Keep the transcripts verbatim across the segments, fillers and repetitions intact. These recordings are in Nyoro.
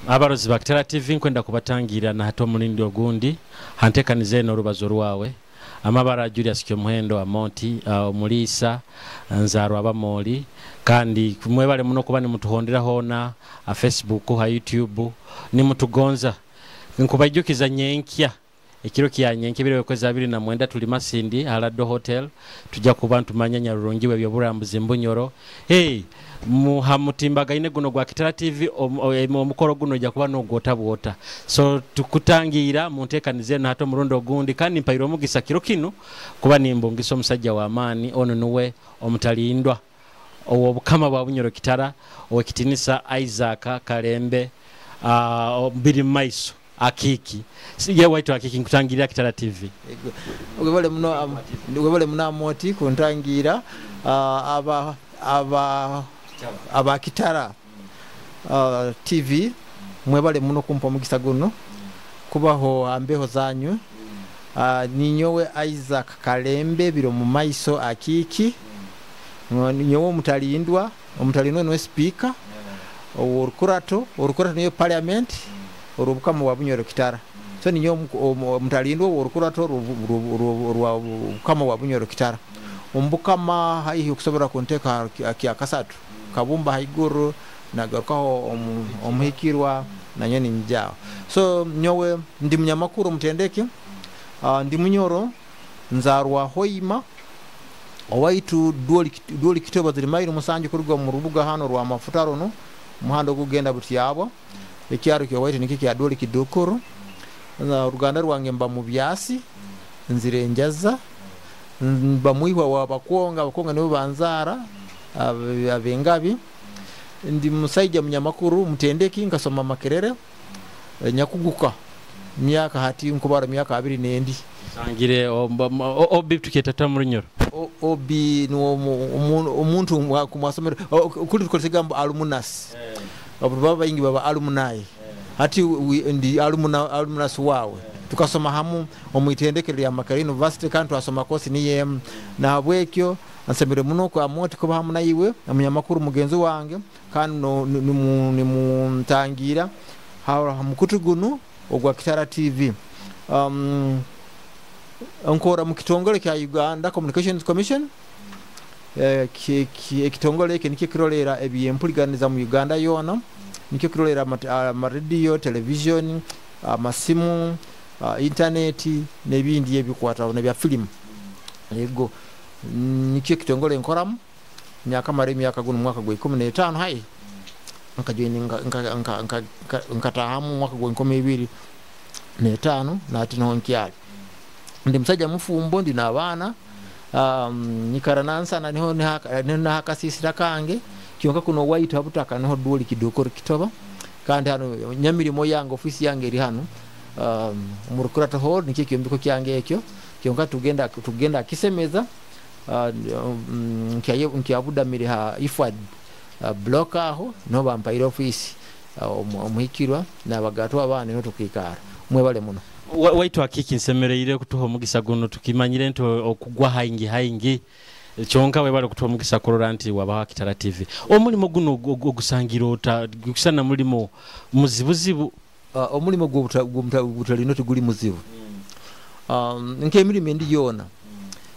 Abarozi ba Kitara T V, nkwenda kubatangira na hata omulindi ogundi hantekanize eno orubazo rwawe. Amabara Julius Kyomuhendo Amonti, uh, omuliisa nzaarwa Abamoli, kandi mwebale muno kuba nimutuhondera hoona a Facebook, ha YouTube, nimutugonza. Nkubaijukiza nyenkya, ekiro kya nyenkya ebiro ekwezi abiri na mwenda, tuli Masindi Alado Hotel, tujja kuba ntumanya nyarurungi w'ebyoburambuzi mbunyoro. Hey, muha mutimbagaine guno gwa Kitara T V, omukoro guno ojja kuba nogwota bwota, so tukutangira munteekanize eno hata omurundi ogundi. Kandi mpaire omugisa kiro kinu kuba nimbungisa omusajja w'amaani ono, nuwe omutalindwa ow'obukama bwa Bunyoro Kitara, owekitinisa Isaac Kalembe uh, biri mumaiso Akiiki. Ye waitu Akiiki, nkutangirira Kitara T V. Webale muno, webale muno Amoti kuntangira. uh, aba aba aba Kitara uh, T V, mwebale muno kumpa omugisa guno kubaho ambeho zanyu. uh, ninyowe Isaac Kalembe biro mu maiso Akiiki, nyowe omutalindwa. Omutalindwa niwe speaker orukurato. Orukurato niyo parliament orubukama bwa Bunyoro Kitara. So ninyo omutalindwa orukurato rwa bukama bwa Bunyoro Kitara omubukama, haihi okusobora kunteka kyakasatu kabumba haiguru nagarukaho omuhikirwa nanyo ninjaho. So nyowe ndi munyamakuru omutendeke, uh, ndi munyoro, nzarwa Hoima owaitu Dwoli Kitoba, ziri mailo musanju kuruga mu rubuga hano rwa mafuta runo, muhanda ogugenda Butyabo. Ekyaro kyowaitu nikyo kya Dwoli Kidukuru. Uruganda rwange mba mu byasi, nzire enjaza, mba mwihwa wa Bakonga. Abakonga nibo banzara, abengabi. Ndi musaija munyamakuru mutendeki, nkasoma Makerere, nyakuguka myaka hati nkubara myaka abiri nendi. Sangire obi tuketata mu Runyoro. Obi ni omuntu kumwasomero kuli tukozesa egambo alumnus, abantu baba baingi baba alumni. Hati ndi alumna, alumnus wawe. Tukasoma hamu omwitendekero lya Makerere University, kandi twasoma kosi niyemu. Nahabwekyo nsemere muno kwa Moti kuba hamu naiwe omunyamakuru mugenzi wange, kandi nimuntangira ha mukutu gunu ogwa Kitara T V. um, nkora mu kitongole kya Uganda Communications Commission. Ekitongole eki nikyo kirolera ebyempuliganiza mu Uganda yoona, nikyo kirolera amarediyo, television, amasimu, intaneti n'ebindi ebikwataho nebya filimu. Ego nikyo ekitongole nkoramu nyakamara emyaka, guno mwaka gwa ikumi n'etaano hai nkatahamu mwaka gwa enkumi ibiri n'etaano, nati niho nkyali. Ndi musajja mufumbo, ndi n'abaana, um, nyikara Nansana, niho nahakasisira kange kyonka kuno waitu habutaka niho Dwoli Kidukuru Kitoba. Kandi hano nyamirimo yange, ofisi yange eri hano um, mu Rukurato Hall, nikyo ekyombeko kyange ekyo kyonka tugenda tugenda kisemeza. uh, um, nkyabudamire ha I F A D uh, block, aho niho bampaire ofisi, uh, omuhikirwa n'abagatwa abaana niho tukikara. Mwebale muno. Waitu Akiki, nsemereire kutuha omugisa guno. Tukimanyire nti okugwa haingi haingi, kyonka webale kutuha omugisa kurora nti wabaho Kitara T V. Omulimo guno ogusangira ota? Gusana mulimo muzibuzibu. uh, omulimo gw'obutalino tiguli muzibu, um, nk'emirimu endi yoona.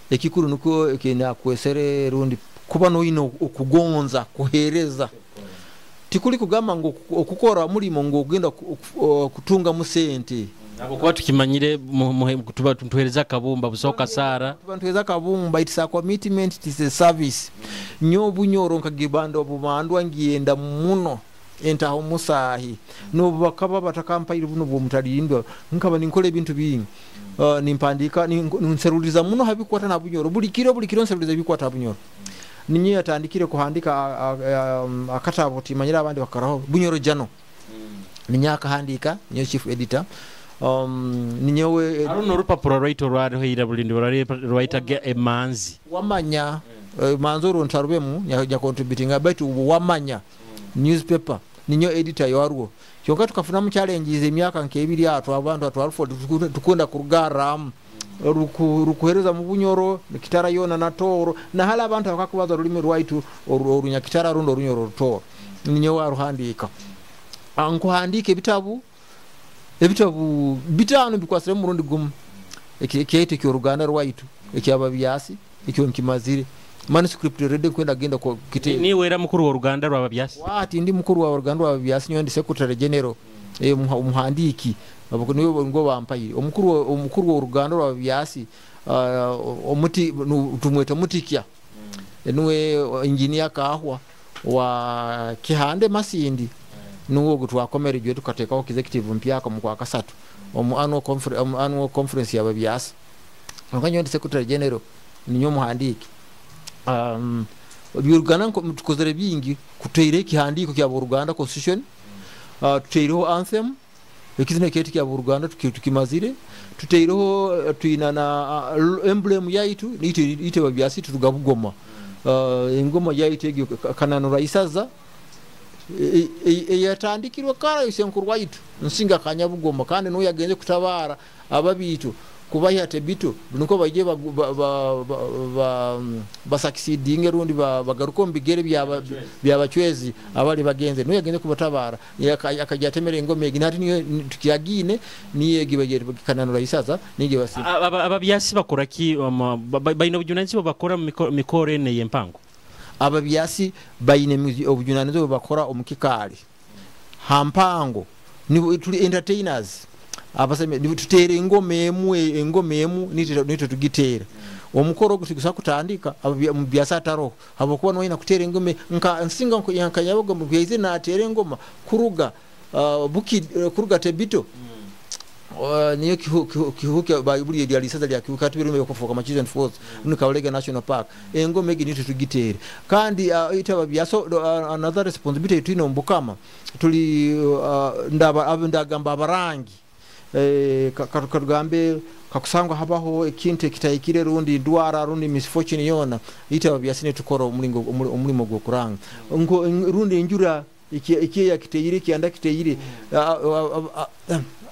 Ekikuru nukwo ekinakwesere rundi kuba noyina okugonza kuheereza. Tikuli kugamba ngu okukora omulimo ngu ogenda kutungamu sente. Kuba tukimanyire tuba tuhereza akabumba busoka sara. Tuhereza akabumba. It's a commitment, it is a service. Nyo Bunyoro nkagibanda obumandwa ngiyenda muno entaho musahi nobu bakaba batakampaire buno bwomutalindwa, nkaba ninkora ebintu bingi, uh, nimpandika, nseruliza muno habikwata na Bunyoro. Buli kiro, buli kiro nseruliza ebikwata ha Bunyoro. Ninye yatandikire kuhandika akatabo timanyira abandi bakaraho, Bunyoro Jano, ninye akahandika, niyo chief editor, um, ninyewe. Aruno orupapuro rwaitu rwariho ira bulindi rwaitaga Emanzi. Wamanya mm. Manzi orwo ntarubemu nya contributinga, baitu Wamanya mm. newspaper ninyo editor yarwo. Kyonka tukafunamu challenges emyaka nk'ebiri atwo, abantu atwarufo tukunda kurugarramu rukuhereza mu Bunyoro, Kitara yona na Tooro, nahali abantu bakakubaza orulimi rwaitu Orunyakitara rundi Orunyoro Rutoro, ninyo waruhandika. Nkuhandika ebitabu ebitabu bitano bikwasire murundi gumu ekyaitu eky'oruganda rwaitu ekyababyasi ekyo nkimazire manuscript ready kwenda genda ku kite. Niwe era mukuru wa ruganda rw'ababyasi? Wati ndi mukuru wa ruganda rw'ababyasi, nyowe ndi secretary general, eh, umuhandiki niwe ngo bampaire omukuru omukuru w'oruganda rw'ababyasi, uh, omuti tumweta mutikya mm. Niwe engineer Kahwa wa Kihande Masindi, nuwo ogwo twakomere jwe tukateekaho executive mpyaka mu kwa kasatu omu annual conference, omu annual conference y'ababyasi. Nyowe ndi secretary general, ninyo omuhandiki. um, Oruganda tukozere bingi, kuteire ekihandiiko kya Oruganda constitution, uh, tuteireho anthem, ekizina kyaitu kya Oruganda tukimazire, tuteireho uh, twina na uh, emblem yaitu ite ite babyasi turuga Bugoma, uh, engoma yaitu egyo Kananura Isaza eyatandikirwe kara isenkuru waitu Nsinga Kanyabugoma, kandi nuyo yagenze kutabara ababitu kubahya tebito nuko baije basakisidinge rundi bagaruka mu bigere byabachwezi abali bagenze, nuyo yagenze kubatabara akajya atemera engoma egi nati niyo tukyagine niyo egi bagere Kananura Isaza nige basi. Ababyasi bakora ki? Bayina obujunanizibwa bakora mu mikoro ene y'empango? Ababyasi bayine obujunanizibwa bakora omu kikaali hampango, ni tuli entertainers abaseme tutere engoma emu engoma emu nitwe tugitera omukoro ogwo tugusa kutandika mu byasa ataro habokuba noyina kutera engoma nka Nsinga nka Nyabugo natera engoma kuruga uh, buki kuruga Tebito uh, niyo kihuke bayibuli lya lisaza lya kihuka tubirume kufuka Machizen Falls mm. Kabalega National Park engoma egi nitwe tugitere kandi uh, itaba byaso uh, another responsibility twino mbukama tuli uh, ndaba ndagamba abarangi eh, katugambe kakusangwa habaho ekintu ekitahikire rundi ndwara rundi misfortune yona itaba byasine tukora omulingo omulimo gw'okuranga rundi enjura ikiya kiteyire kianda kiteyire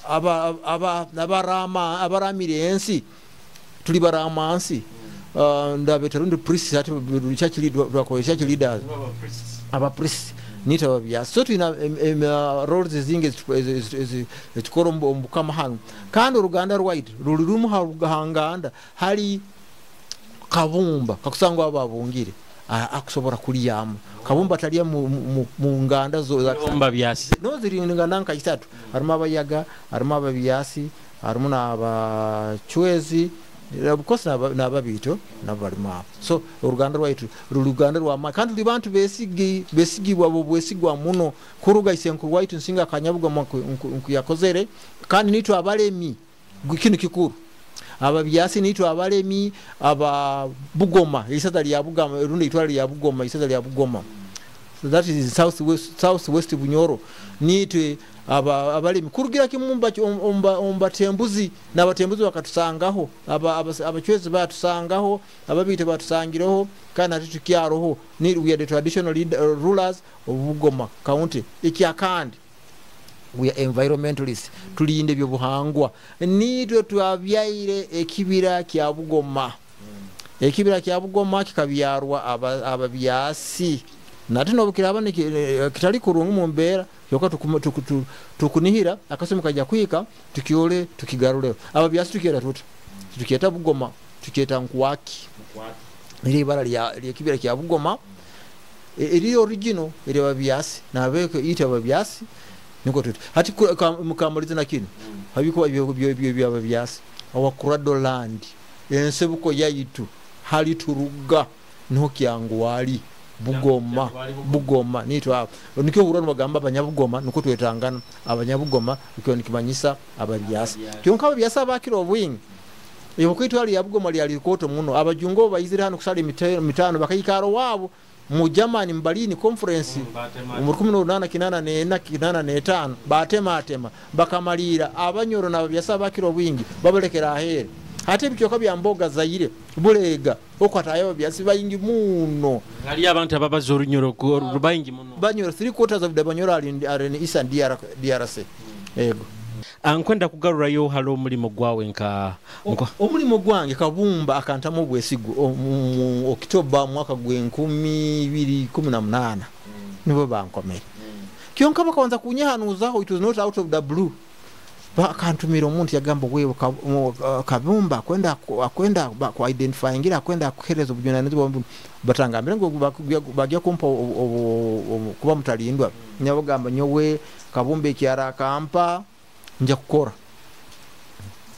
aba aba abarama abaramire ensi tuli baramansi ndabeta rundi priests ati church leader church leaders aba priests nita bya so twina roles zinge tukora ombukama hano kandi oruganda rwaitu ruri rumu hanganda hari Kabumba kakusangwa ababungire akusobora kulyamu Kabumba talya mu nganda zo Kabumba byasi no ziri nganda nka isatu harimo abayaga harimo ababyasi harimo n'abachwezi of n'ababito n'abalima so oruganda rwaitu ruruganda rwa kandi tuli bantu besigi besigibwa bo bwesigwa muno kuruga isenkuru waitu Nsinga Kanyabuga nkuyakozere kandi nitwe abalemi kinu kikuru ababyasi nitwe abalemi aba Bugoma isaza lya Bugoma rundi itwala lya Bugoma isaza lya Bugoma, so that is south west south west Bunyoro nitwe aba abalemi kurugira kimumba omba ombatembuzi n'abatembuzi bakatusangaho aba abachwezi batusangaho ababite batusangireho kandi ati tukyaroho ni we are the traditional leader, uh, rulers of Bugoma county. Ikyakandi we are environmentalists, tulinde byo buhangwa nitwe twabyaire ekibira kya Bugoma mm. Ekibira kya Bugoma kikabyarwa ababyasi nate nobukiraba kitali kurungu mu mbeera yoka tukunihira akasumi kajya kwika tukiole tukigarule ababyasi tukiera tuta tukieta Bugoma tukieta Nkwaki iri ibara lya ekibira kya Bugoma eri original eri ababyasi nabeko ita ababyasi niko tuti hati mukamaliza na kino habiko byo byo byo ababyasi awa Land ensebuko yaitu hali turuga niho kyangwali Bugoma Bugoma nitwa hapo nikyo hurano bagamba abanyabugoma nuko twetangana abanyabugoma nikyo nikimanyisa ababyasi kyonka ababyasi abakiro obwingi iyo kwitwali ya Bugoma lyali koto muno abajungo bayizira hano kusala mitano bakayikaro wabo mu Germany Mbalini conference mu kumi n'umunani kinana nena kinana netano batema atema bakamalira abanyoro n'ababyasi abakiro obwingi babalekera ahere ate ebyoka bya mboga Zaire Bulega okwatayo byasi bayingi muno hali abantu ababaza orunyoro rubayingi muno banyoro three quarters of the banyoro are in, are in Eastern D R C mm. Ego ankwenda kugarurayo halo omulimo gwawe nka omulimo gwange Kabumba akantamu obwesigo mu Oktoba mwaka gwe nkumi ibiri kumi na munana mm. Nibo bankomere mm. Kyonka bakabanza kunyehanuzaho, it was not out of the blue. Bakantumira omuntu yagamba, wewe Kabumba akwenda akwenda ku identifyingira, akwenda kuhereza obujunanizibwa. Batangambire ngo bagya kumpa kuba mutalindwa. Nyabagamba, nyowe Kabumba ekyara akampa nja kukora.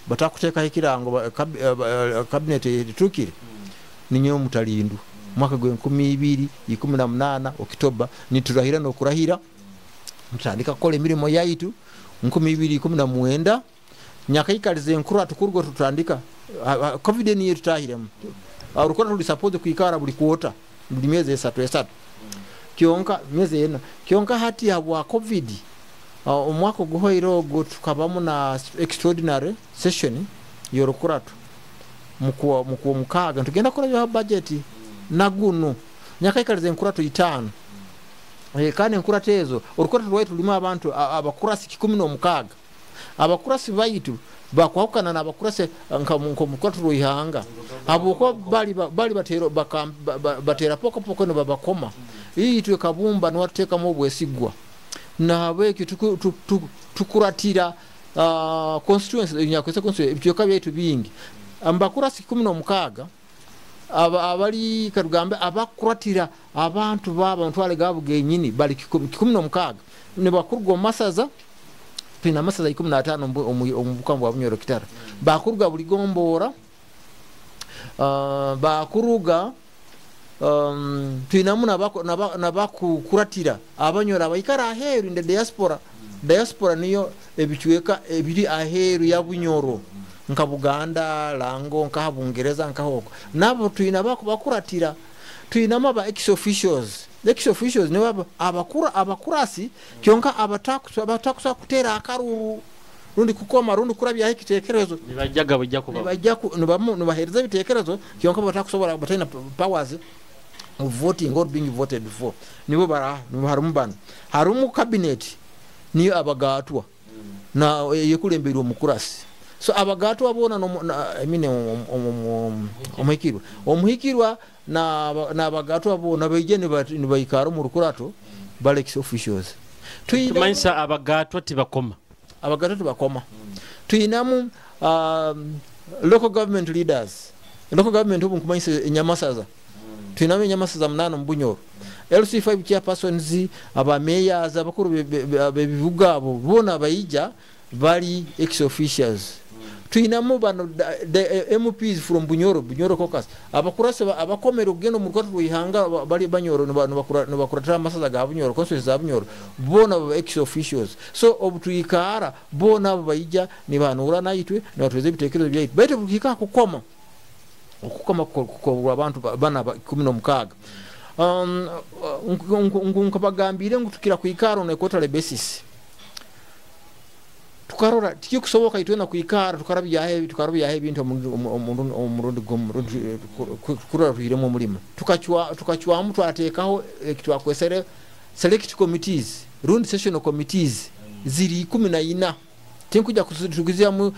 Batakuteekaho ekirango, cabinet etukire, ninyowe mutalindwa. Mwaka gwenkumi ibiri ikumi na munana Okitoba niturahira nokurahira, mutandika kukola emirimo yaitu. Nkumi ibiri ikumi na mwenda nyakaikaliza enkuru atukurwa tutandika COVID niyo tutahiremu. Orukora tuli suppose kuikara buli quarter, buli myezi esatu esatu, kyonka myezi ena. Kyonka hati habwa COVID, omwaka oguhoire ogwo tukabamu na extraordinary session yorukuratu mukuwa mukuwa mukaaga, tugenda kukora budget naguno. Nyakaikaliza enkuratu itaano. E, kandi enkuratu ezo, orukuratu rwaitu rulimu abantu abakurasi kikumi n'omukaaga. Abakurasi baitu bakwahukana n'abakurasi nka mukuratu rwihanga, habwokuba bali bali batera batera poko poko nibabakoma. Itwe Kabumba niwatuteekamu obwesigwa, nahabwekyo tukuratira uh, constituency nyakwese constituency, ebicweka byaitu bingi. Mbakurasi kikumi n'omukaaga abali, katugambe abakuratira abantu baba ntwale gabo genyini bali kikumi n'omukaaga, nibakuruga omu masaza. Twina amasaza ikumi n'ataano omu bukama bwa Bunyoro Kitara. Bakuruga buli gombora, uh, bakuruga um, twinamu nabakukuratira abanyoro abaikara aheeru in the diaspora. Diaspora niyo ebicweka ebiri aheeru ya Bunyoro, nka Buganda, Lango, nkaha Bungereza, nkahoko, nabo twina bakuratira. Twinamu aba ex officials. Ex officials nibo abakura abakurasi, kyonka abatakusa kutera akaruru rundi kukoma rundi kurabyaho ekitekerezo. Nibajjaga bujja kuba nibajja nibahereza ebitekerezo, kyonka batakusobora, batalina powers of voting or being voted for. Nibo bara harimu bano. Harimu cabinet, niyo abagatwa na yekulemberwa omukurasi. So abagatwa bona no, I mean, omuhikirwa omuhikirwa na n'abagatwa bona baije nibaikara mu rukurato, bali ex officials. Tumanyisa abagatwa tibakoma. Abagatwa tibakoma. Tuyinamu um, local government leaders. Local government obu nkumanyisa enyamasaza. Tuyinamu enyamasaza munana mu Bunyoro, L C five chairpersons, aba mayors, abakuru bebibuga, abo bona baija bali ex officials. Tuyinamu bano the M Ps from Bunyoro, Bunyoro caucus, abakurase abakomera okugenda mu rukwato rwihanga bali Banyoro, nibakuratira amasaza ga Bunyoro, constituency za Bunyoro, bona baba ex officials. So obu twikara bona abo baija nibahanura naitwe, nibatweza ebitekerezo byaitu. Baitu buhika kukoma, okukoma kukorwa abantu bana kumi n'omukaaga. um, nkabagambire ngu tukira kwikara on a quarterly basis, tukarora tikikusoboka itwena kwikara tukarabyaho tukarabyaho ebintu omurundi kurora tuhiremu omulimo. Tukacwamu twateekaho ekitwakwesere select committees rundi sessional committees ziri ikumi na ina. Tinkuja kuziramu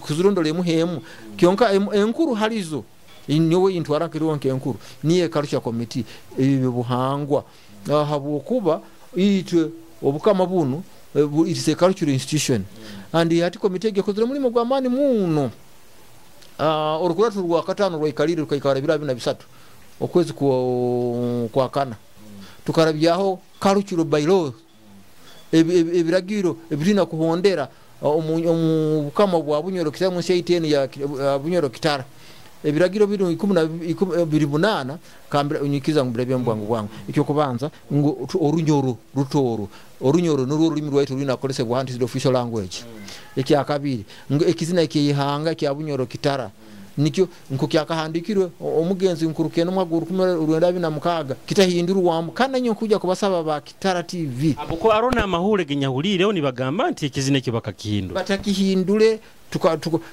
kuzirondola emu hemu, kyonka enkuru halizo nyowe intwara nkiriwo nkenkuru niye culture committee, ebyo buhangwa, habwokuba itwe obukama bunu it is a cultural institution. And hati komite egekozere mulimo gw'amaani muno. uh, orukuratu rwa katano rwaikalire, rukaikara ebiro abiri na bisatu okwezi kwa kana, tukarabyaho cultural bylaws, ebiragiro ebirina kuhondera omu bukama bwa Bunyoro Kitara, munsi yaiteni ya Bunyoro Kitara. Ebiragiro biri ikumi na biri munana. Kambira unyikiza ngubirebe bwangu bwangu. Ekyo kubanza ngu Orunyoro Rutoro, Orunyoro nurwo rurimi rwaitu rurina kukolesebwa, is the official language. Ekyakabiri ngu ekizina ekyihanga kya Bunyoro Kitara nikyo nko kyakahandikirwe omugenzi Nkurukeno mwaka rukumi rwenda abiri na mukaaga, kitahindurwamu. Kandi nyo kuja kubasaba ba Kitara T V. Abuko arona amahule genyahulireho nibagamba nti ekizina ekyo bakakihindura. Batakihindule.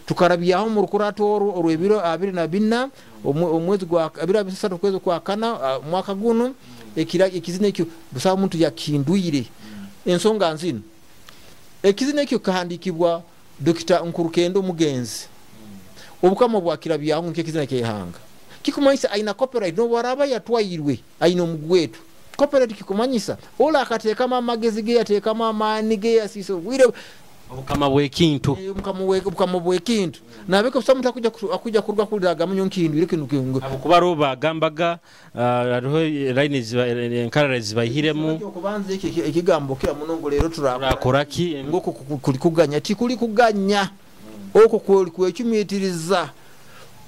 Tukarabyaho mu rukurato orwo orw'ebiro abiri na bina omwezi gwa abiri abisatu kwezi kwa kana mwaka guno, ekira ekizina ekyo busaba muntu yakihindwire. Ensonga nzino, ekizina ekyo kahandikibwa Dokita Nkurukendo omugenzi, obukama bwakirabyaho nk'ekizina ky'eihanga, kikumanyisa aina copyright. N'obwaraba yatwairwe, aina omugwetu. Copyright kikumanyisa ola akateekamu amagezi ge, yateekamu amaani ge, yasiisa obwire. Obukama bw'ekintu. Obukama bw'ekintu nabeko busa omuntu akuja kuruga kuliraga munyo nkindwire kinu kingu. Kuba ro bagambaga hariho line enkarara zibayihiremu. Okubanza ekigambo kira muno ngo leero turakora ki ngoko kuli kuganya tikuli kuganya okwo kwecumitiriza,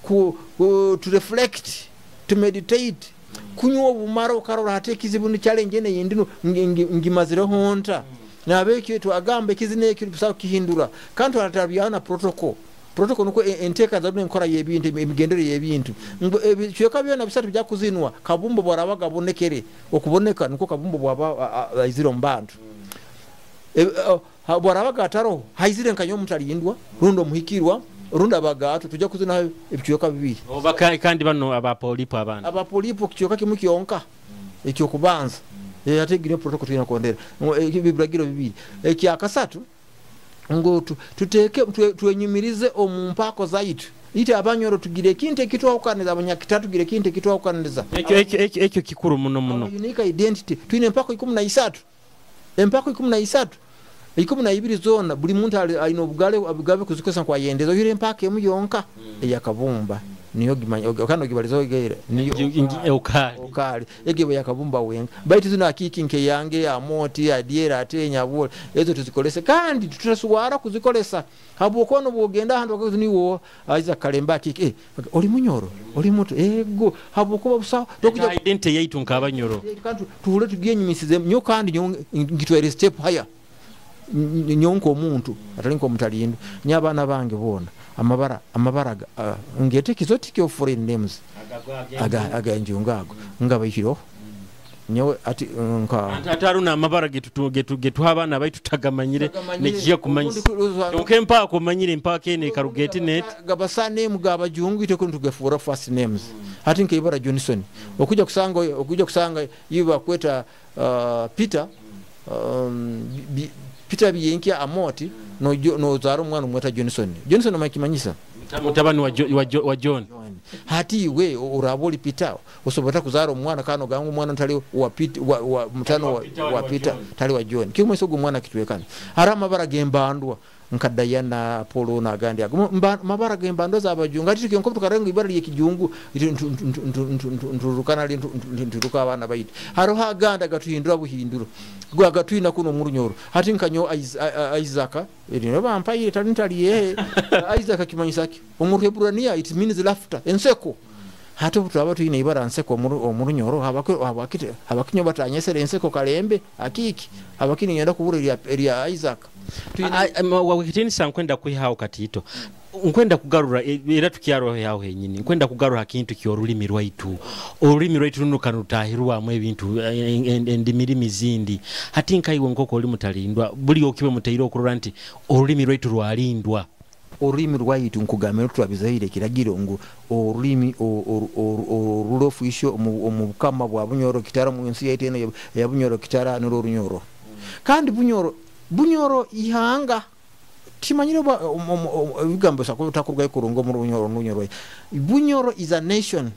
ku to reflect, to meditate, kunywa obumara okarora ate ekizibu ni challenge ene yindino ngimazireho nta. Nabekyo twagamba ekizina ekyo busa kihindura kandi twatabyana protocol. Protocol nuko enteka za enkora y'ebintu, emigendere y'ebintu ebicweka byona bisatu bya kuzinwa. Kabumbo bwarabaga bonekere okuboneka nuko kabumbo bwaba aizire mu bantu bwarabaga ataro haizire nkanyo mutalindwa rundo muhikirwa rundo abagato tujja kuzina ebicweka bibiri. Oba kandi bano abapolipo abana abapolipo kicweka kimwe kyonka ekyo kubanza yategire protocol tulina kondera ebiragiro bibiri. Ekyakasatu ngo tuteke twenyumirize omumpako zaitu ite abanyoro tugire ekintu ekitwawukaniza, abanyakitatu tugire ekintu ekitwawukaniza. Ekyo ekyo ekyo kikuru muno muno. Unique identity. Twine empako ikumi na isatu, empako ikumi na isatu, ikumi na ibiri zona buli muntu alina obugale obugabe kuzikozesa kwayendeza oyire empako emu yonka eyakabumba niyo gimanya kandi ogibaliza ogeire niyo okali okali egebo yakabumba wenga baitu zino akiki nke yange amoti adiera atenya bwo ezo tuzikolese kandi tutaswara kuzikolesa habwokono bwogenda ahantu akazi niwo aiza kalemba akiki eh oli munyoro oli mutu ego habwokuba busa tokuja identity yaitu nkabanyoro kandi tuhule tugenyimisize nyo kandi ngitwere step higher nyonko omuntu atali nko mutalindo nyabana bange bona amabara amabara uh, ngete exotic of foreign names aga aga njungago ngabayiro nyowe ati nka ataruna amabara getu getu getu abana baitu tagamanyire nekiye kumanyisa onke mpa kumanyire mpa kene karugeti net gabasa name gabajungu ite kuntu gefura first names ati nkeibara Johnson okuja kusanga okuja kusanga yiba kweta uh, Peter um, bi, Peter biyenkia amoti no no zaro mwana mweta Johnson. Johnson amakimanyisa mutabani wa, jo, wa, jo, wa John. Hati we uraboli Peter osobota kuzara omwana kano gangu mwana ntali wa Peter wa, wa mutano wa, wa, wa Peter tali wa John. Kimwe sogo mwana kitwekana. Harama mabara gembandwa nka Diana Apollo na gandi ago mabara gembandwa zabajungu ati kyonko tukarenga ibara lye kijungu nturukana nturuka abana bayiti. Haro aganda gatuhindura buhinduro gwa gatuina kuno murunyoro hati nkanyo Isaac erino bampaire tali ntali ye Isaac kimanyisaki omuruhebrania it means laughter enseko. Hati tutaba tuine ibara nseko omurunyoro habako habakite habakinyo batanyesere enseko kalembe akiki habakini nyenda kubura erya Isaac. Wakitinisa nkwenda kwihaho katito nkwenda kugarura era tukyaro yaho henyini nkwenda kugarura kintu kyo olulimi rwaitu olulimi rwaitu runo kanutahirwamu ebintu endimirimi zindi hati nkaiwe nkoko oli mutalindwa buli okibe mutairo okurora nti olulimi rwaitu rwalindwa. Olulimi rwaitu nkugamira twabizaire kiragiro ngu olulimi orulofisho omu bukama bwa Bunyoro Kitara mu nsi yaitu eno ya Bunyoro Kitara nuro Runyoro kandi Bunyoro Bunyoro ihanga timanyire ebigambo sakotakurwa kurungo mu Runyoro Runyoro. Bunyoro is a nation,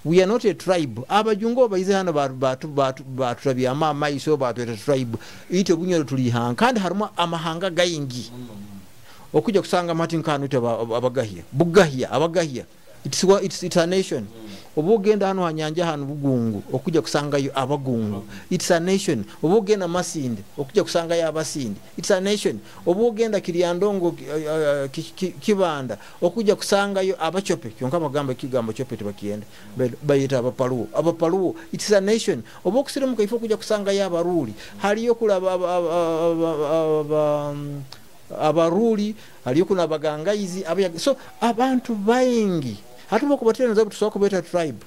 we are not a tribe. Abajungo baize hano batu batu batu ama iso batu tribe ite Bunyoro tuli ihanga kandi harimo amahanga gayingi okuja kusanga Martin Kanu ite abagahia bugahia abagahia it's it's it's a nation. Obugenda hano hanyanja hano bugungu okuja kusanga yo abagungu it's a nation. Obugenda Masindi okuja kusanga yo abasindi it's a nation. Obugenda Kiryandongo uh, Kibanda okuja kusanga yo abachope kyonka bagamba kigambo chope tebakienda bayita abapaluo abapaluo it's a nation. Obokusirimuka ifo kuja kusanga yo abaruli haliyo kulaba abaruli haliyo kuna abagangaizi abaya so abantu baingi hatuba kubatera nzabu tusoka kubeta tribe.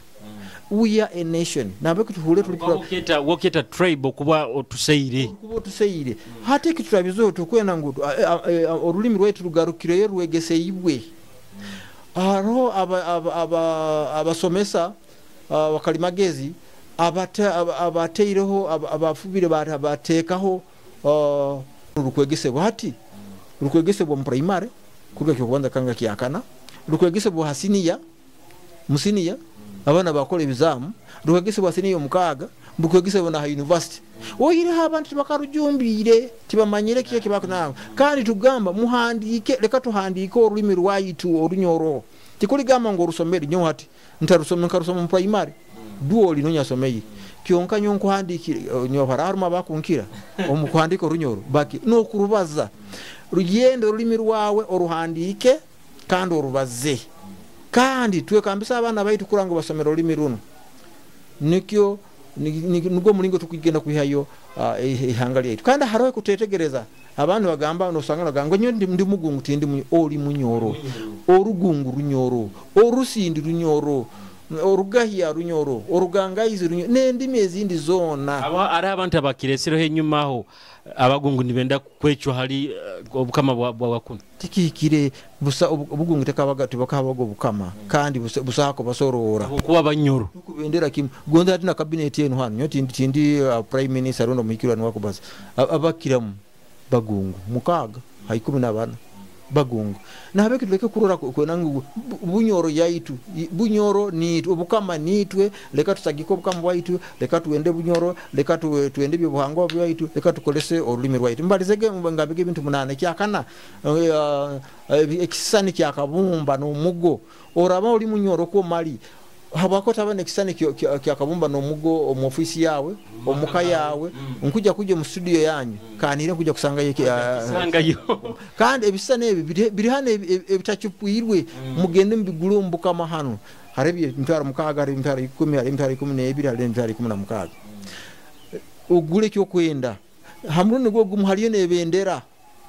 Mm. We are a nation. Nabe kutuhule tuli woketa woketa tribe okuba otuseire kuba otuseire. Mm. Hati kiturabizo tukwena ngu olulimi rwetu rugarukire rwegeseibwe. Mm. Aro aba aba abasomesa wakalimagezi abate abateireho abafubire bateekaho rukwegesebwa hati rukwegesebwa mu primary kuruga kyokubanza kanga kyakana rukwegesebwa hasiniya musiniya abana bakola ebizamu rukwegesebwa siniya omukaaga Bukwegesa bona ha university oyireho abantu tibakarujumbire, tibamanyire kiki ekibakunanga. Kandi tugamba muhandike, leka tuhandike orulimi rwaitu Orunyoro. Tikuligamba ngu orusomere nyo hati ntarusome, nkarusoma mu primary duoli nonya someye kyonka nyo nkuhandikire nyo hararuma bakunkira omukuhandika Orunyoro baki nokurubaza. Rugendo orulimi rwawe oruhandike kandi orubaze. Kandi twekambisa abana baitu kuranga basomera orulimi runo, nikyo nigwo mulingo tukugenda kwihayo ihanga lyaitu. Kandi hariho kutetegereza abantu bagamba nosanga bagamba nyo ndi mugungu tindi oli Munyoro, orugungu Runyoro, orusindi Runyoro, orugahia Runyoro, orugangaizi Runyoro, n'endimi ezindi zona. Aba ari abantu abakiresereho enyuma aho abagungu nibenda kwecwa hali obukama bwa bwa kuno. Tikikire busa obugungu tekabaga tibakabaga obukama kandi busako basorora kuba Banyoro tukubendera kimu gonda ati na cabinet yenu hano nyo tindi tindi uh, prime minister rondo muhikirwa niwakubaza abakiramu bagungu mukaga ha ikumi na bana bagungu nahabeki tuleke kurora kwenangu Bunyoro yaitu, Bunyoro ni obukama nitwe, leka tusagike obukama bwaitu, leka tuende Bunyoro, leka tu, tuende byobuhangwa bwaitu, leka tukolese orulimi rwaitu. Mbalizege ngambege ebintu munane kyakana uh, ekisani kyakabumba n'omugo. Oraba oli Munyoro ko mali habako tabane ekisani kyakabumba n'omugo omu ofisi yawe omuka yawe nkuja kuja mu studio yanyu kanire nkuja kusanga kusangayo. Kandi ebisani ebi biri hano ebitachupwirwe mugende mbigule omubukama hano hari emitwaro mukaga, hari emitwaro ikumi, hari emitwaro ikumi n'ebiri, hari emitwaro ikumi na mukaga ogule kyokwenda hamrundi gwo gumu haliyo n'ebendera,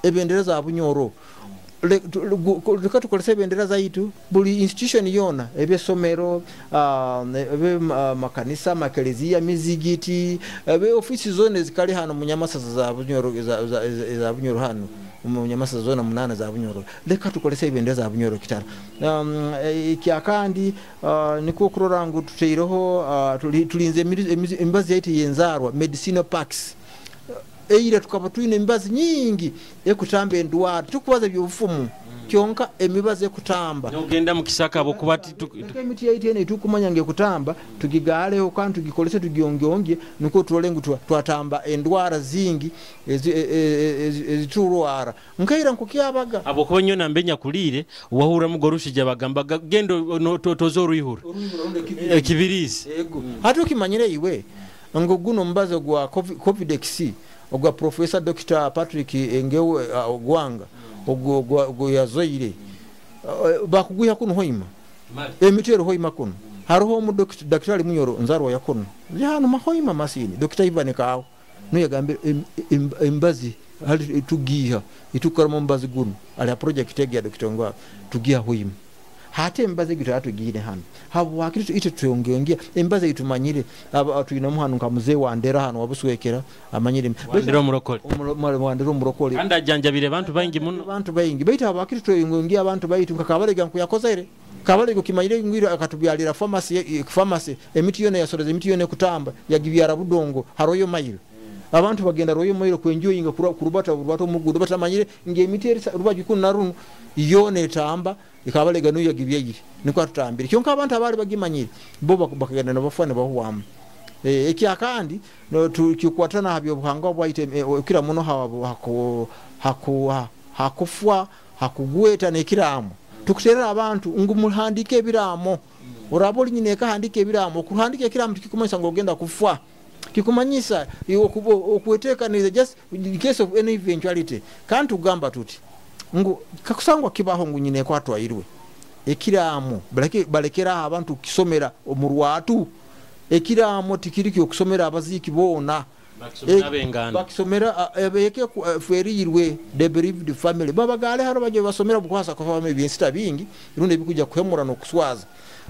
ebendera za Bunyoro. Leka tukolese ebendera zaitu buli institution yona, ebesomero, ebe makanisa, makelezia, mizigiti, ebe ofisi zone zikali hano munyamasasa za Bunyoro, za Bunyoro hano munyamasasa zona munana za Bunyoro. Leka tukolese ebendera za Bunyoro kitara. Ikyakandi niko kurora ngu tuteireho tulinze emibazi yaitu yenzarwa medicinal packs. Eire tukaba twine emibazi nyingi ekutamba endwara tukubaza ebyobufumu kyonka emibazi ekutamba nogenda mu kisaka abo kuba emiti yaitu ene tukumanya nge kutamba tugigaleho kandi tugikolese tugiongeonge niko turole ngu twatamba endwara zingi eziturwara nkaira nkukyabaga abo kuba nyo nambenya kulire wahura mugorushije bagamba gendo tozo ruihura ekibirizi yego hati ukimanyire iwe ngo guno mbazo gwa Covidex ogwa Professor Doctor Patrick Engewe Ogwanga ogwo ogwo yazoire bakuguya kuno hoima emitero hoima kuno haruho omu doctor Munyoro nzarwa yakuno yano mahoima masini Doctor Ivan Kawo no yagambire embazi hali tugiha itukora mu mbazi guno ali project ya Doctor Ngwa tugiha hoima hate embazi gitu atugire hano habwakiri ite tuyongeongea embazi itumanyire atuina muhanu nka muzee Wandera hano wabuswekera amanyire Wandera omurokole Wandera omurokole kandi ajanjabire abantu baingi muno abantu baingi baitu habwakiri tuyongeongea abantu baitu nka kabalega nkuyakozere kabalega kimanyire ngwira akatubyalira pharmacy pharmacy emiti yone yasoreza emiti yone kutamba yagibyara budongo haroyo mailo abantu bagenda royo mailo kwenjoyinga kurubata urubata omugudo batamanyire nge emiti eri rubaju kuna runu yone tamba ikabalega nuyo gibyegire niko atutambire kyonka abantu abali bagimanyire bo bakagenda nabafana bahuwamu e ekyakandi no tukikwatana habyo buhangwa bwaite kira muno hawo haku hakufwa hakugweta nekiramo tukuterera abantu ngu muhandike ebiramo orabo linyine kahandike ebiramo kuhandike ekiramo tukikumanyisa ngo ogenda kufwa kikumanyisa okuwetekaniriza just in case of any eventuality kandi tugamba tuti ngu kakusangwa kibaho ngu nyine kwatwairwe ekiramo baleke balekera abantu kisomera omurwatu ekiramo tikiriki okusomera abaziki bona bakisomera ebeke ferirwe the bereaved family babagale haro baje basomera bukwasa kwa family byensita bingi rundi bikuja kuhemura no kuswaza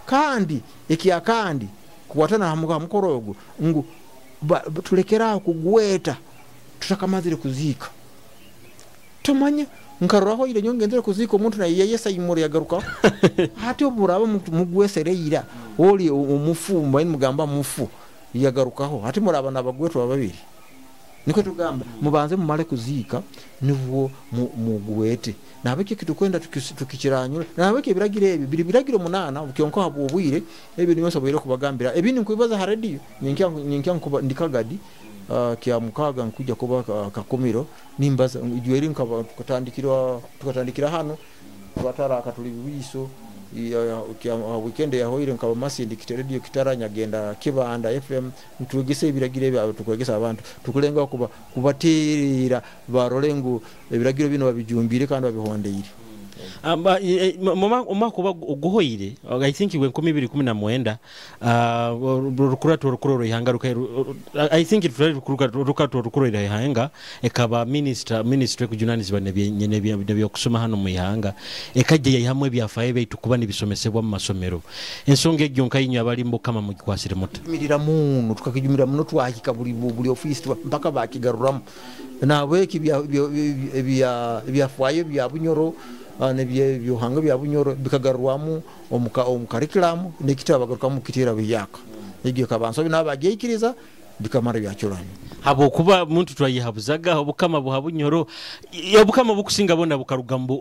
kandi ekiyakandi kuwatana hamuka mukorogo ngu tulekera kugweta tutakamazire kuzika tumanye nkaroho ile nyongenzere kuzika omuntu na yeyesa imuri yagaruka hati oburaba mugwesereira oli omufumba mugamba mufu yagarukaho hati muraba nabagwetwa babiri Nikwo tugamba mubanze mumale kuziika nibwo mugwete. Nabeki kitukwenda tukikiranyura. Nabeki ebiragiro ebi biri biragiro munana kyonka habwobwire ebi niyo nsoboire kubagambira. Ebindi nkubibaza ha radio nyinkya nyinkya nkuba ndikagadi uh, kya mukaga nkuja kuba uh, kakumiro nimbaza ijweri nkaba tukatandikira tukatandikira hano twatara akatuli biso ya weekend ya hoire nkaba masi ndikite radio Kitara nyagenda Kibanda F M ntwegese ebiragiro ebyo tukwegesa abantu tukulenga kuba kubatirira barolengu ebiragiro bino babijumbire kandi babihondeire. Mama kuba oguhoire I think we nkumi ibiri kumi na mwenda rukurato rukuroro ihanga ruka I think it rukurato rukuroro ihanga ekaba minister ministry kujunanizibwa nebyo kusoma hano mu ihanga ekajja yahamwe ebyafaye baitu kuba nibisomesebwa mu masomero ensonga egyo nkayinywa abali mbukama mu gikwasire muta mirira muno tukakijumira muno twahika buli buli office mpaka bakigaruramu nabwe ebya ebya ebyafaye bya Bunyoro nebye byohanga bya Bunyoro bikagarwamu omuka omukarikulamu nekitaba bagarukamu kitera biyaka egyo kabanso binabageikiriza bikamara byacyuranye habo kuba muntu twayihabuzaga obukama buha Bunyoro obukama bukusinga bona bukaruga mu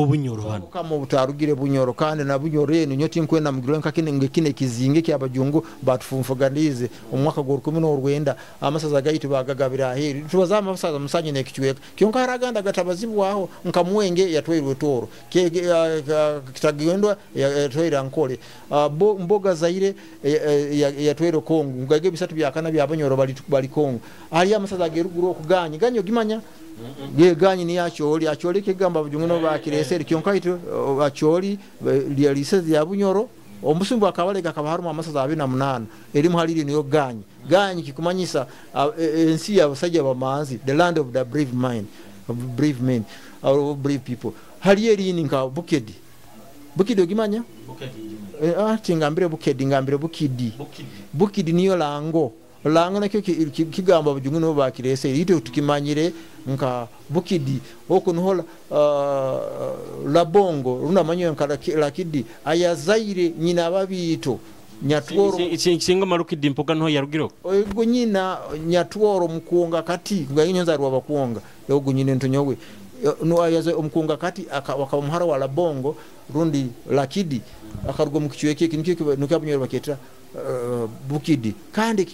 Bunyoro hano obukama butarugire Bunyoro kandi na Bunyoro eno nyoti nkwenda mugiro nka kine ngekine kizinge kyabajungu batufumfuganize omwaka gwa kumi n'orwenda amasaza gaitu bagagabira aheri tubaza amasaza musanye nekichweka kyonka haraganda gatabazibwaho nka Mwenge yatwairwe Toro kitagendwa yatwaira Nkole mboga Zaire yatwairwe Kongo ngage bisatu byakana bya Bunyoro bali bali Kongo ali amasaza geruguru okuganya ganyo gimanya ge ganyi ni acholi acholi kigamba bujungu bakireseri kyonka itu acholi lyalisezi ya Bunyoro omusumbu akabalega kabaharumu amasaza abiri na munana erimu haliri niyo ganyi ganyi kikumanyisa ensi y'abasajja bamanzi the land of the brave mind of brave men or brave people hali erini nka Bukedi Bukidi ogimanya Bukedi ah tingambire Bukedi ngambire Bukidi Bukidi niyo lango lango nakyo kigamba bujungu no bakirese ito tukimanyire nka Bukidi oko nuhola uh, Labongo runda manyo nka Lakidi ayazaire nyina babito Nyatworo singa marukidi mpoka no yarugiro ogo nyina Nyatworo mukuonga kati ngayinyo rwa bakuonga yogo nyine ntonyowe no ayaze omukunga kati akaba muhara wa Labongo rundi Lakidi akarugo mu kichweke kiniki nuka Bunyoro baketa Uh, Bukidi kandi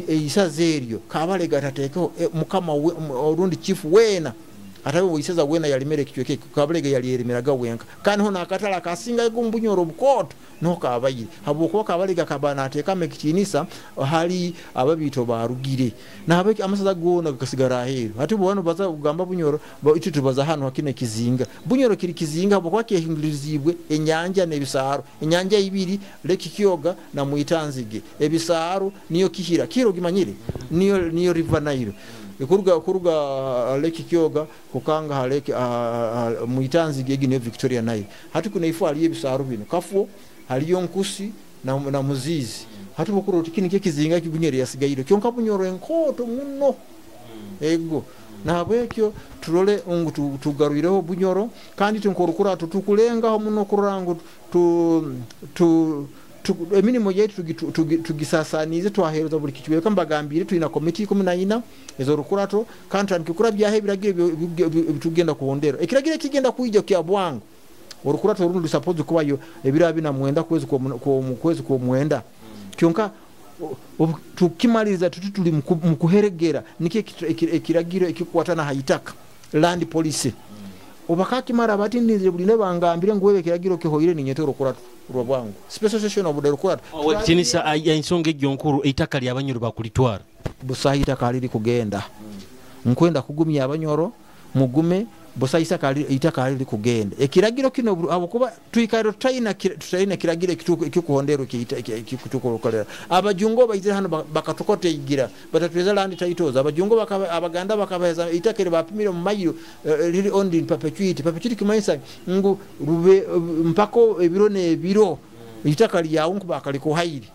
isaza eryo Kabalega tatekeho e, mukama orundi chief wena atabe isaza wena yalimere kichweke Kabalega yalierimeraga wenka kandi hona akatala kasinga Bunyoro bukoto no kabayire habuko Kabalega kabana ateka mekitinisa hali ababito barugire nabe amasaza gona gasigara ahero hati bwano baza kugamba Bunyoro itu tubaza hano hakine kizinga Bunyoro kiri kizinga bwo kwakehingiririzibwe enyanja nebisaro enyanja ibiri Lake Kyoga na Muitanzige ebisaro niyo Kihira kiro gimanyire niyo niyo River Nile kuruga kuruga Lake Kyoga kukanga haleke Muitanzige egi niyo Victoria Nile hati kuna ifu hali ebisaro bino Kafuo haliyo Nkusi na, na Muzizi hati bukuru tikini kizinga kibunyeri yasigaire kyonka Bunyoro enkoto muno ego nahabwekyo turole ngu tugaruireho Bunyoro kandi tinkorukura tutukulengaho muno kurangu tu tu emirimo yetu tugisasanize twahereza buli kichweka mbagambire tulina komiti kumi na ina ezo rukurato kandi tandikura byahe biragire bitugenda kuhondera ekiragire kigenda kuija kya bwangu orukurato rundi suppose kubayo ebira bina mwenda kwezi kwa kwezi kwa mwenda kyonka tukimaliza tuti tuli mukuheregera nike ekiragiro ekikukwatana haitaka land policy obakakimara bati ndinzire buli nebangambire ngwebe ekiragiro kihoire ninyeto rukurato rwa bwangu special session obude rukurato owekitinisa ensonga egyo nkuru eitaka lya Banyoro bakulitwara busahi itaka liri kugenda nkwenda kugumya Abanyoro mugume busahi itaka itaka liri kugenda ekiragiro kino abukuba tuikairo tutaina tutaina kiragiro ekikuhondero ekitukolera abajungo baizira hano bakatukote igira batatweza land titles abajungo abaganda bakabeza itaka bapimire mu mayiro liri owned in perpetuity perpetuity kimanyisa ngu rube mpako ebiro nebiro itaka lyawo nkuba akaliko hairi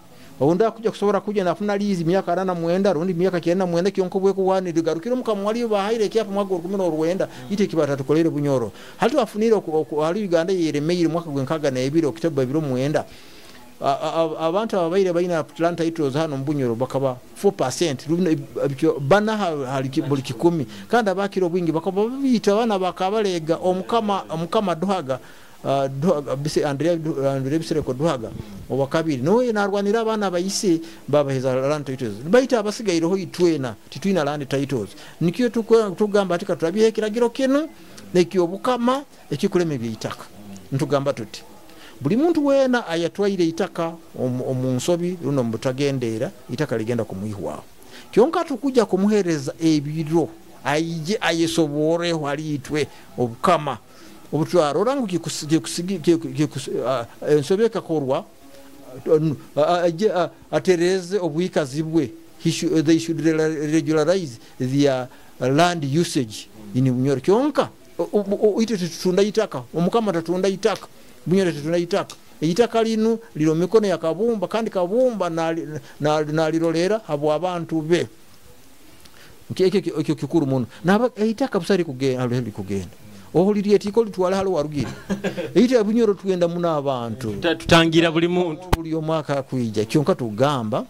Onda kuja kusobora kuja nafuna lizi miaka arana mwenda rundi miaka kyenda mwenda kyonko bwe kuwani ligarukiro mukamwali bahaire kyapa mwaka kumi n'orwenda ite kibata tukolere Bunyoro hali afunire hali Uganda yeremeire mwaka gwenkaga na ebiro Oktoba biro mwenda Abantu ababaire baina land titles hano mu Bunyoro bakaba four percent bana hali buli kikumi, kandi abakiro bwingi bakaba bita abana bakabalega omukama omukama duhaga bise Andrea Andrea Bisereko duhaga obakabiri noye narwanira abana bayise babaheza land titles baita abasigaireho itwena titwina land titles. Nikyo tugamba ati katulabiye ekiragiro kino nekyo obukama ekikuleme byeitaka. Ntugamba tuti buli muntu wena ayatwaire itaka omunsobi runo mutagendeera itaka ligenda kumuihwaho. Kyonka tukuja kumuhereza ebiro aije ayesoboreho alitwe obukama obutwarora ngu ensobi ekakorwa aje atereze obwikazi bwe. They should regularize their land usage in Bunyoro. Kyonka ite tutunda itaka, omukama tatunda itaka, Bunyoro tatunda itaka. Itaka linu liro mikono ya Kabumba, kandi Kabumba nalirolera abo abantu be. Ekyo kikuru muno. Na itaka busari kugenda kugenda ohuliriye tiko litwala halo warugire. Ite Bunyoro tugenda muna abantu tutangira buli muntu buli omwaka kuija. Kyonka tugamba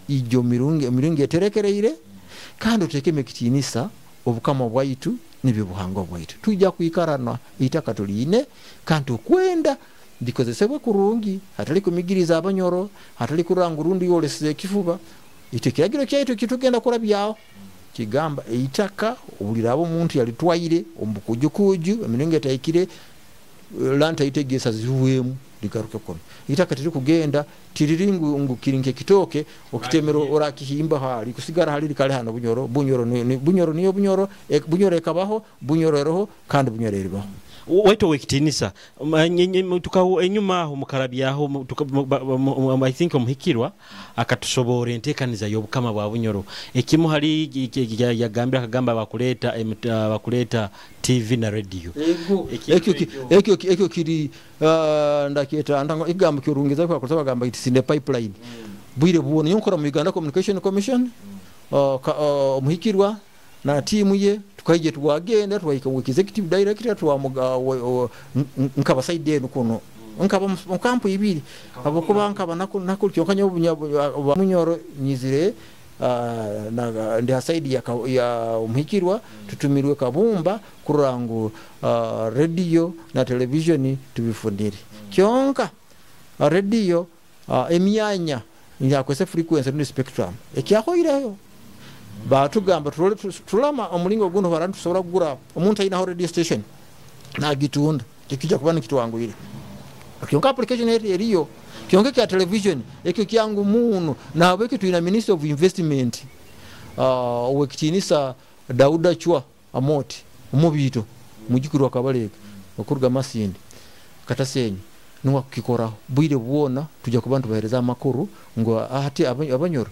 ijo mirungi mirungi eterekereire kandi otekeme kitinisa obukama bwaitu nibibuhango bwaitu. Tujja kuikarana itaka tuline kandi okwenda bikozesebwe kurungi, hatali kumigiriza abanyoro, hatali kuranga rundi yoleseze kifuba. Ite kiragiro kyaitu kitugenda kurabyao kigamba eitaka obulirabo omuntu yalitwaire omukujukuju emiringo etaikire lanta itegesa ziwemu ligaruke kono. Itaka tiri kugenda tiriringu ngu kirinke kitoke okitemero orakihimba hali kusigara hali likale hano Bunyoro. Bunyoro ni Bunyoro niyo Bunyoro e, Bunyoro ekabaho Bunyoro eroho kandi Bunyoro eribaho. Waito wekitinisa tukawo enyuma aho mukarabyaho I think omuhikirwa akatusobora entekaniza y'obukama bwa Bunyoro. Ekimu hali yagambira akagamba bakuleta bakuleta T V na radio. Ekyo ekyo ekyo kiri ndakyeta ndango igambo kyurungiza kwa kusaba gamba it's in the pipeline. Bwire buone yonkora mu Uganda Communication Commission omuhikirwa na timu ye tukaije twagenda twayika executive director twamuga nkaba side eno kuno nkaba mukampu ibiri abakuba nkaba nakul kyokanya Bunyoro nyizire na ndi side ya ya omuhikirwa tutumirwe Kabumba kurangu radio na television tubifundire. Kyonka radio emyanya yakwese frequency ni spectrum ekyahoireyo batugamba tulama omulingo guno barantu tusobola kugura omuntu ayina radio station nagitunda kikija kuba nikitwanguyire. Kyonka application eriyo kyonka kya television ekyo kyangu muno na abeke tuina Minister of Investment uh owekitinisa Dauda Chwa Amoti omubito mujikuru akabaleka okuruga Masindi Katasenyi nuwa kukikoraho bwire bwona tujja kubantu bahereza amakuru ngo ati abanyoro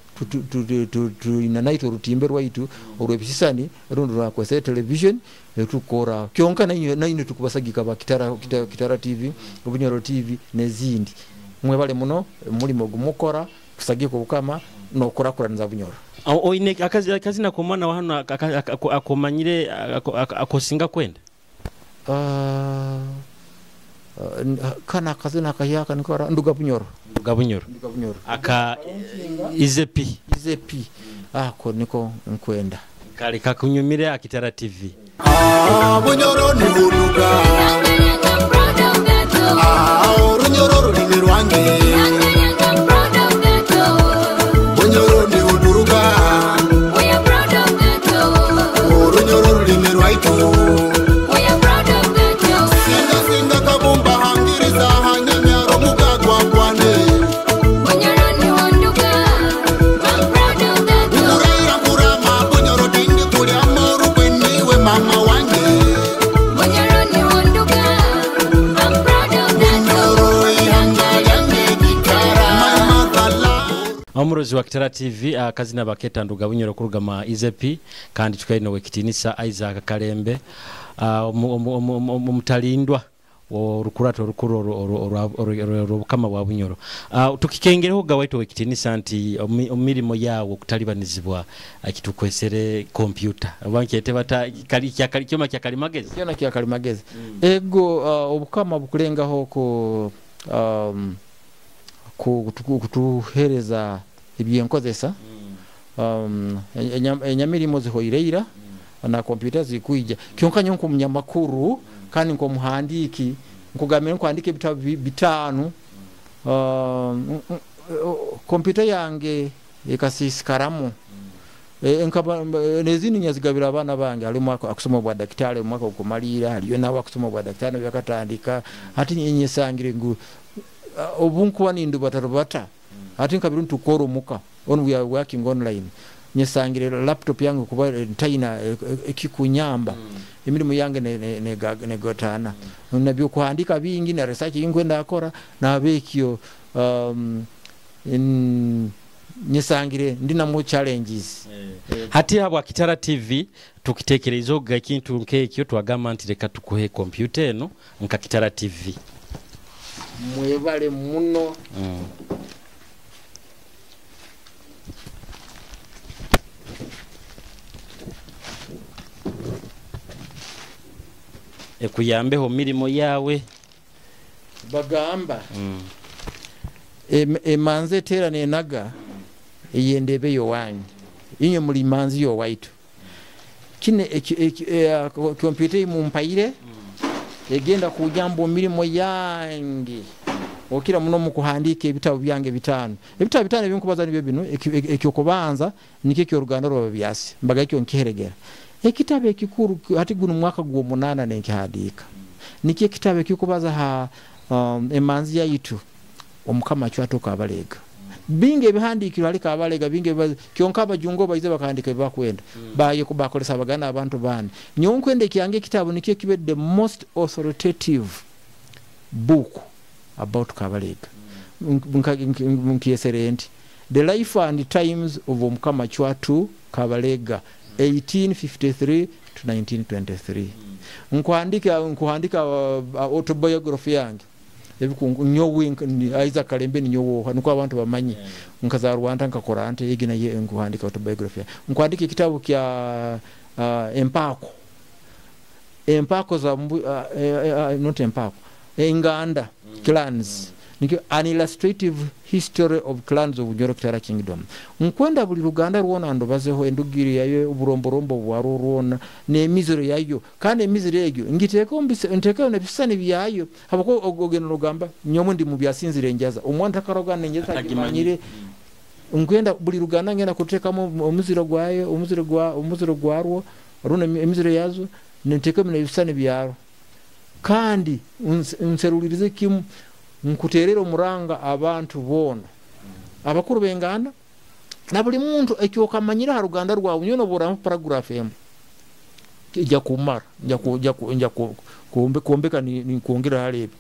tuina naito rutimbe rwaitu olwebisisani rundi rwakwese television tukora kyonka nayo nayo tukubasagika ba Kitara, Kitara, Kitara T V Bunyoro T V nezindi mwebale muno mulimo gumukora kusagika obukama nokurakuraniza Bunyoro. Oine akazi akazi nakomana hano akomanyire akosinga kwenda uh, kana kazina kayaka nikora nduga Bunyoro nduga Bunyoro nduga Bunyoro aka izepi izepi ako niko nkwenda kale kakunyumire Akitara T V. Ah Bunyoro ni buruga, ah Bunyoro rurimi rwange, Bunyoro ni buruga, Bunyoro rurimi rwaitu. Omurozi wa Kitara T V akazina baketa nduga Bunyoro kurugama izepi kandi tukaino wekitinisa Isaac Kalembe omutalindwa orukurato orukuru orubukama bwa Bunyoro. Tukikengereho gawaito wekitinisa nti omirimo yawo kutalibanizibwa kitukwesere kompyuta abankete bata kali kya kyoma kya kalimagezi kyona kya kalimagezi ego obukama bukulengaho ku um, kutuhereza ebyenkozesa um, enyamirimo zihoireira na kompyuta zikuija kyonka nyo nkomunyamakuru kandi nkomuhandiki nkugamira nkwandika ebitabo bitano um, kompyuta yange ekasisikaramu enkaba nezini nyazigabira abana bange alimu akusoma bwa daktari mwaka okumalira aliyo nawe akusoma bwa daktari byakatandika hati nyesangire ngu obunkuwa nindu batarubata hati nkabiru ntukoro muka on we are working online nyesangire laptop yange kuba ntaina ekikunyamba emirimu yange ne ne ne gotana nabyo kuhandika bingi na research yinkwenda akora nabekyo um, in, nyesangire ndina mu challenges yeah. Hati habwa Kitara T V tukitekerezo ekintu nkekyo twagamba nti reka tukuhe computer eno nka Kitara T V mwebale muno mm. Ekuyambeho mirimo yawe bagamba mm. emanze tera nenaga eyendebe yowanyu inye muri manzi yo waitu kine kompyuta imumpaire mm. egenda kujambo mirimo yange okira muno mu kuhandika ebitabo byange bitano ebitabo bitano ebinkubaza nibyo bino ekyokubanza nikyo kyoruganda rwa byasi mbaga ekyo nkiheregera ekitabo ekikuru hati guno mwaka gwo munana nenkihandika nikyo ekitabo ekikubaza ha um, emanzi yaitu omukama chwatoka abalega binge bihandikiro alika abalega binge kyonka abajungo baize bakandika bakwenda mm. baye kubakolesa abagana abantu bandi nyonkwende kyange kitabo nikyo kibe the most authoritative book about Kabalega mm. Nkieserenti The Life and Times of Omukama Chwatu Kabalega eighteen fifty-three to nineteen twenty-three. mm. Nkuhandika nkuhandika uh, autobiography yange ebikungu nyowe Isaac Kalembe nyowo nuko abantu bamanyi yeah. Nkaza Rwanda nkakora ante yegina ye nkuhandika autobiography nkuhandika ekitabo kya uh, empako empako za uh, uh, not empako enganda mm. clans mm. Nikyo an illustrative history of clans of Bunyoro Kitara Kingdom nkwenda buli Ruganda rwona ndobazeho endugiri yayo oburomborombo bwaro rwona n'emiziro yayo kandi emiziro egyo ngiteko nteko nebisani byayo habako ogeno rugamba nyomo ndi mu byasinzire njaza omwana takarogana njeza agimanyire nkwenda buli Ruganda ngenda kutekamo omuziro gwayo omuziro gwa omuziro gwarwo runa emiziro yazo nteko nebisani byaro kandi nserulirize kimu nkuterera omuranga abantu bona abakuru benganda na buli muntu ekyokamanyira ha Ruganda rwawe nyono bora paragraph emu ijya kumara njya kujya njya kumbe kuombeka ni, ni kuongera hali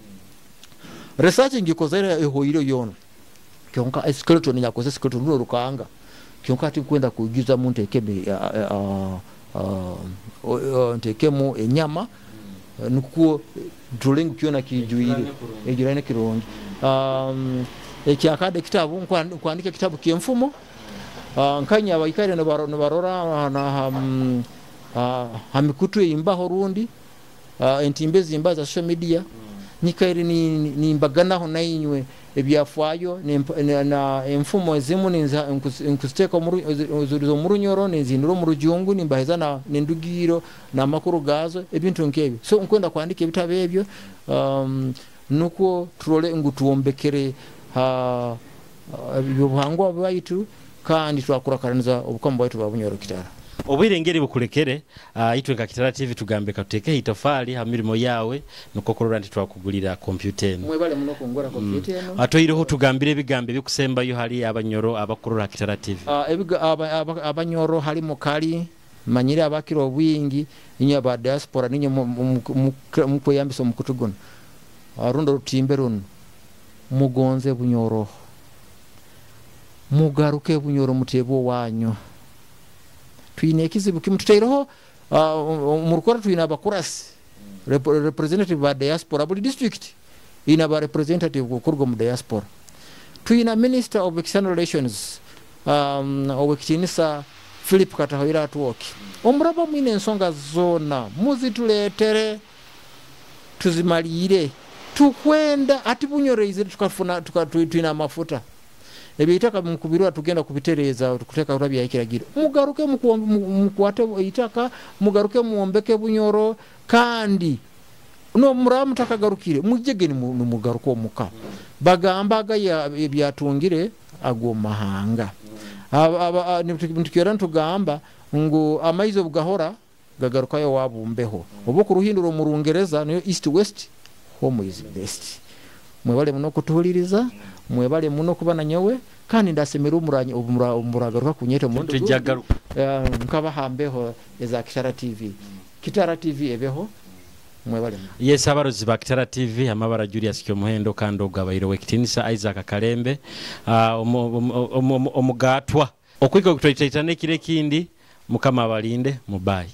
research ngikozera ehoiro yono kyonka skeleton yakoze skeleton runo rukanga kyonka ati kwenda kujuza muntu ekebe ntekemo enyama nukuo drawing kiona kijuire ejirane kirungi um ekyakade kitabu nkwandika kitabu kyemfumo uh, nkanya abaikare no na um, uh, hamikutu imbaho rundi uh, entimbe zimba za social media nyikaire ni nimbaganaho nainywe ebyafwayo na, na enfumo ezimu nkusiteka omuzurizo murunyoro nenzinduro mu rujungu nimbaheza na nendugiro na makuru gazo ebintu nkebyo so nkwenda kwandika ebitabo ebyo um, nuko turole ngu tuombekere ha ebyobuhangwa bwaitu kandi twakurakaraniza obukama bwaitu bwa Bunyoro Kitara obwire ngeri bukulekere uh, itwe nka Kitara T V tugambe katuteke itofali ha mirimo yawe nuko kurora nti twakugulira computer eno mwebale muno kungora computer eno mm. Atoireho tugambire ebigambo ebikusembayo hali abanyoro abakurora Kitara T V uh, ebiga aba, aba, abanyoro hali mukali manyire abakiro obwingi inyo aba diaspora ninyo mukweyambisa omukutu guno arundo rutimbe runo mugonze Bunyoro mugaruke Bunyoro mutebo wanyu twine ekizibu kimututeireho uh, murukora twine abakurasi Rep representative ba diaspora buli district ina ba representative kuruga mu diaspora twina minister of external relations um, owekitinisa Philip Katahoira atuoki omuraba mwine ensonga zona muzituletere tuzimalire Tukwenda ati Bunyoro tukafuna tuka, twina amafuta, ebyeitaka mukubirwa, tugenda kubitereeza, kuteeka bya ekiragiro. Mugaruke mukwate eitaka, mugaruke muwombeke Bunyoro. Kandi no muraba mutakagarukire, mujege nimugaruka omuka. Bagamba aga ebyatungire ago mahanga, nitukyera nitugamba ngu amaizi obugahora gagarukayo wabumbeho, oba okuruhindura omu Rungereza niyo east west, home is best. Mwebale muno kutuhuliriza, mwebale muno kuba nanyowe, kandi ndasemera omuragaruka kunyeta omurundi nkabahambeho eza Kitara T V. Kitara T V ebeho. Mwebale. Yes, abarozi ba Kitara T V, amabara Julius Kyomuhendo, kandi ogabaire wekitinisa Isaac Kalembe, omugatwa okwika okutwaitaitana ekiro ekindi. Mukama abalinde, mubayi.